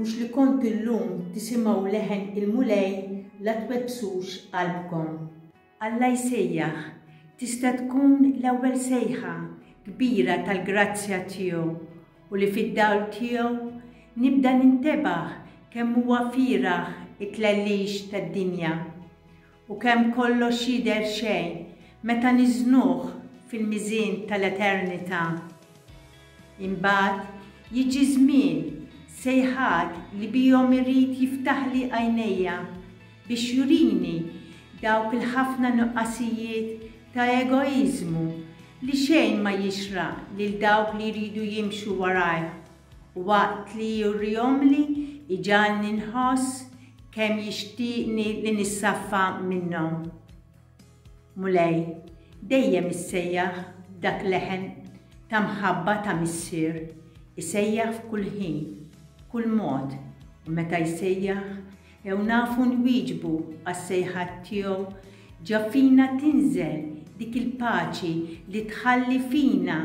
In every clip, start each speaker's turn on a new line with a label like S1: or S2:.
S1: Mhux li kontu llum tisimgħu leħen il-Mulej la twebbsux qalbkom. Alla jsejjaħ, tista' tkun l-ewwel sejħa kbira tal-grazzja tiegħu u li fid-dawl tiegħu nibda nintebaħ kemm huwa fieragħ it-tlellix tad-dinja u kemm kollox jidher xejn meta niżnuh fil-miżien tal-eternità. Imbagħad jiġi żmien, sejħat li bihom irid jiftaħli għajnejja biex jurini dawk il-ħafna nuqqasijiet ta' egoiżmu li xejn ma jixraq lil dawk li jridu jimxu warajh u waqt li jurihomli jġagħalni nħoss kemm jixtieqni li nissaffa minnhom. Mulej, dejjem issejjaħ b'dak leħen ta' mħabba ta' Missier, isejjaħ f'kull ħin, b'kull mod, u meta jsejjaħ, jew nafu nwieġbu għas-sejħat tiegħu, ġa fina tinżel dik il-paċi li tħalli fina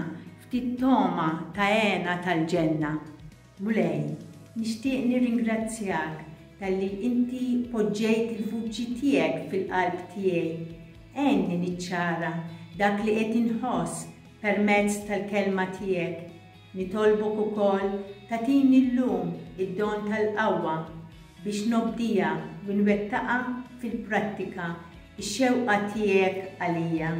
S1: ftit togħma ta' hena tal-ġenna. Mulej, nixtieq nirringrazzjak talli inti poġġejt il-vuċi tiegħek fil-qalb tiegħi. Għenni niċċara dak li qed inħoss permezz tal-Kelma tiegħek. Nitolbok ukoll tagħtini llum id-don tal-qawwa biex nobdiha u nwettaqha fil-prattika x-xewqa tiegħek għalija.